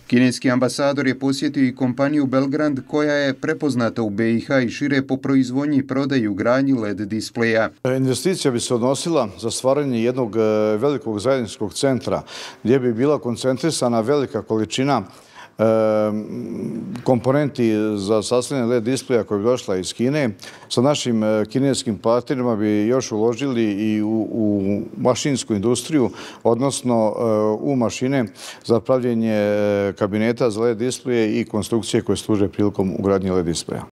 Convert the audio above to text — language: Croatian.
Kineski ambasador je posjetio i kompaniju Belgrand koja je prepoznata u BiH i šire po proizvodnji i prodaji i ugradnji LED displeja. Investicija bi se odnosila za stvaranje jednog velikog zajedničkog centra gdje bi bila koncentrisana velika količina komponenti za sastavljanje LED displeja koja bi došla iz Kine. Sa našim kineskim partnerima bi još uložili i u mašinsku industriju, odnosno u mašine za pravljenje kabineta za LED displeje i konstrukcije koje služe prilikom ugradnje LED displeja.